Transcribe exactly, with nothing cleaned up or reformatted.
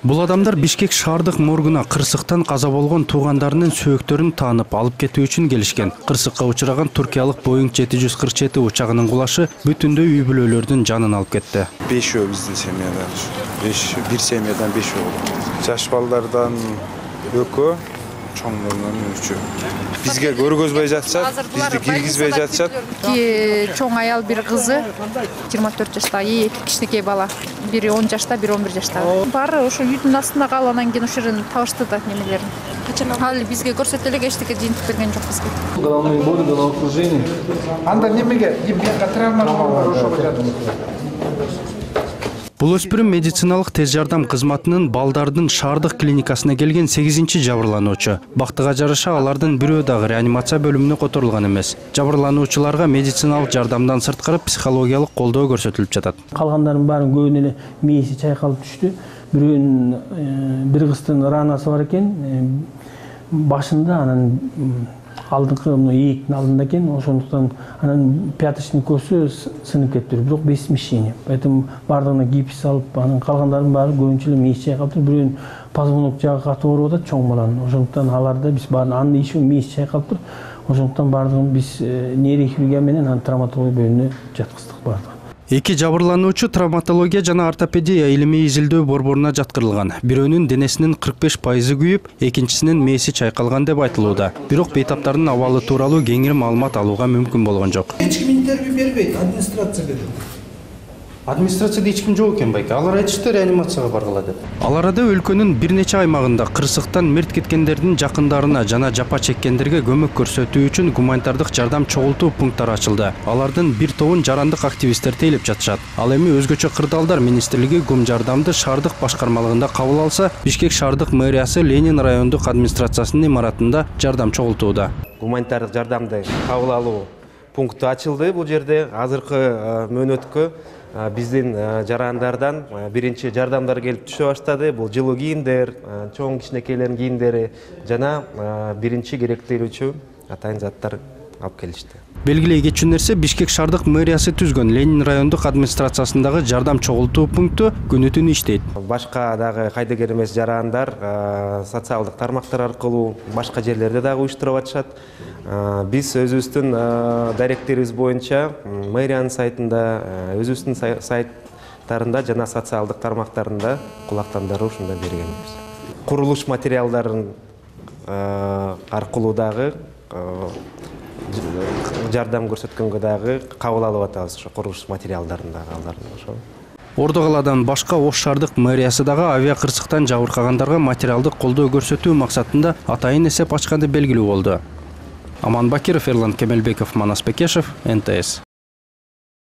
Бул адамдар Бишкек шаардык моргуна кырсыктан каза болгон туугандарынын сөөктөрүн таанып алып кетүү үчүн келишкен. Кырсыкка учураган туркиялык Боeing жети жүз кырк жети учагынын кулашы бүтүндөй үй бүлөлөрдүн жанын алып кетти. Бешөө биздин семьядан, бир семьядан бешөө. Жаш балдардан экөө, чоңдордон үчөө. Бизге көргөзбөй жатышат, бизди киргизбей жатышат. Чоң аял бир кызы, жыйырма төрт жаштагы, эки кичинекей бала. Бири он жашта, бири он бир жаштагы. Баары ошо үйдүн астында калып, анан кийин ошо жерден табышты да немелерин. Ал бизге көрсөтө элек эчтеке жыйынтык берген жок бизге. Головные боли, головокружение. Анда немеге, эмне травма болгон ошого жатат. Бул өспүрүм медициналык тез жардам кызматынын балдардын шаардык клиникасына келген сегизинчи жабырлануучу. Бактыга жараша алардын бирөө дагы реанимация бөлүмүнө которулган эмес. Жабырлануучуларга медициналык жардамдан сырткары психологиялык колдоо көрсөтүлүп жатат. Калгандардын баарын көбүнө эле мээси чайкалып түштү. Бирөөнүн бир кыздын ранасы бар экен, башында, анан алдыңкы ээктин алдында экен, ошондуктан анан пяточный көзү сынып кетти, бирок без смещения. Поэтому бардыгына гипс алып, анан калгандардын баары көбүнчө эле мээси чайкалып туруп, бирөөнүн позвонок жагы катуу ооруп атат, чоң баланын. Ошондуктан аларда биз баарын анын иши мээси чайкалып туруп, ошондуктан бардыгын биз нейрохирургия менен анан травматология бөлүмүнө жаткыздык бардыгын. Эки жабырлануучу травматология жана ортопедия илимий изилдөө борборуна жаткырылган. Бирөөнүн денесинин кырк беш пайызы күйүп, экинчисинин мээси чайкалган деп айтылууда. Бирок бейтаптардын абалы тууралуу кеңири маалымат алууга мүмкүн болгон жок. Эч ким интервью бербейт, администрация берет. Администрацияда эч ким жок экен байке. Алар айтышты реанимацияга баргыла деп. Ал арада өлкөнүн бир нече аймагында кырсыктан мерт кеткендердин жакындарына жана жапа чеккендерге көмөк көрсөтүү үчүн гуманитардык жардам чогултуу пункттары ачылды. Алардын бир тобун жарандык активисттер тейлеп жатышат. Ал эми өзгөчө кырдаалдар министрлиги гум жардамды шаардык башкармалыгында кабыл алса, Бишкек шаардык мэриясы Ленин райондук администрациясынын имаратында жардам чогултууда. Гуманитардык жардамды кабыл алуу пункту ачылды бул жерде. Азыркы мөөнөткө биздин жарандардан биринчи жардамдар келип түшө баштады. Бул жылуу кийимдер, чоң кичинекейлердин кийимдери жана биринчи керектелүүчү атайын заттар алып келишти. Белгилей кетчү нерсе, Бишкек шаардык мэриясы түзгөн Ленин райондук администрациясындагы жардам чогултуу пункту күнү түнү иштейт. Башка дагы кайдыгер эмес жарандар социалдык тармактар аркылуу башка жерлерде дагы уюштуруп атышат. Биз өзүбүздүн даректерибиз боюнча мэриянын сайтында, өзүбүздүн сайттарында жана социалдык тармактарында кулактандыруу ушундай бергенбиз. Курулуш материалдарын аркылуу дагы жардам көрсөткөнгө дагы кабыл алып атабыз, ошо курулуш материалдарын дагы алардын ошо. Ордо калаадан башка Ош шаардык мэриясы дагы авиа кырсыктан жабыркагандарга материалдык колдоо көрсөтүү максатында атайын эсеп ачканы белгилүү болду. Аман Бакиров, Эрлан Кемелбеков, Манас Бекешев, эн тэ эс.